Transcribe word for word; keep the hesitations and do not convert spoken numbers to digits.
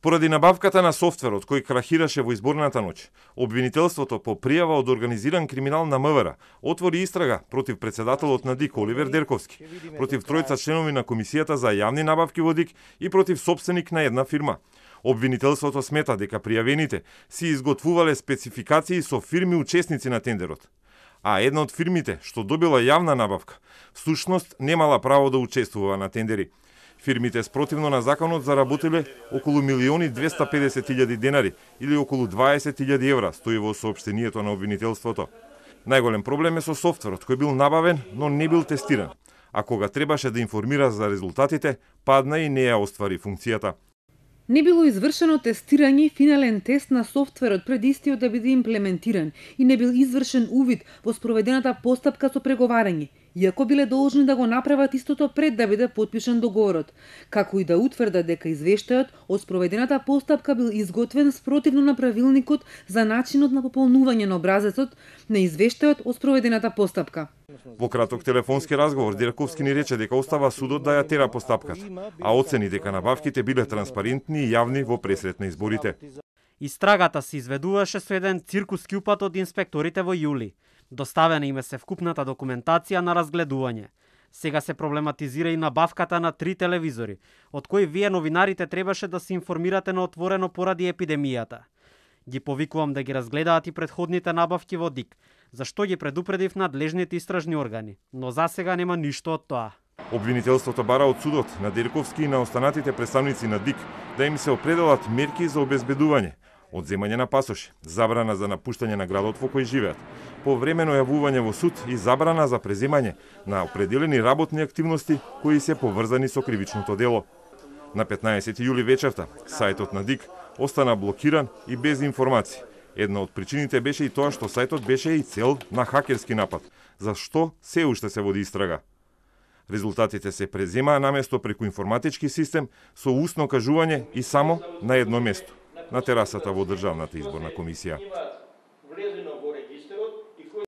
Поради набавката на софтверот кој крахираше во изборната ноќ, обвинителството по пријава од организиран криминал на МВР отвори истрага против председателот на ДИК Оливер Дерковски, против тројца членови на Комисијата за јавни набавки во ДИК и против сопственик на една фирма. Обвинителството смета дека пријавените си изготвувале спецификации со фирми учесници на тендерот, а една од фирмите што добила јавна набавка, всушност немала право да учествува на тендери. Фирмите спротивно на законот заработиле околу милиони двесте и педесет илјади денари или околу дваесет илјади евра, стои во соопштението на обвинителството. Најголем проблем е со софтверот кој бил набавен, но не бил тестиран, а кога требаше да информира за резултатите, падна и не ја оствари функцијата. Не било извршено тестирање и финален тест на софтверот пред истиот да биде имплементиран и не бил извршен увид во спроведената постапка со преговарање, иако биле должни да го направат истото пред да биде потпишан договорот, како и да утврдат дека извештајот од спроведената постапка бил изготвен спротивно на правилникот за начинот на пополнување на образецот на извештајот од спроведената постапка. Во краток телефонски разговор Дерковски ни рече дека остава судот да ја тера постапката, а оцени дека набавките биле транспарентни и јавни во пресрет на изборите. Истрагата се изведуваше со еден циркуски упат од инспекторите во јули. Доставена им е се вкупната документација на разгледување. Сега се проблематизира и набавката на три телевизори, од кои вие новинарите требаше да се информирате на отворено поради епидемијата. Ги повикувам да ги разгледаат и предходните набавки во ДИК, зашто ги предупредив надлежните истражни органи, но за сега нема ништо од тоа. Обвинителството бара од судот на Дерковски и на останатите представници на ДИК да им се определат мерки за обезбедување, одземање на пасоши, забрана за напуштање на градот во кој живеат, повремено јавување во суд и забрана за преземање на определени работни активности кои се поврзани со кривичното дело. На петнаесети јули вечерта сајтот на ДИК остана блокиран и без информации. Една од причините беше и тоа што сајтот беше и цел на хакерски напад, за што се уште се води истрага. Резултатите се преземаа наместо преку информатички систем со усно кажување и само на едно место, на терасата во Државната изборна комисија.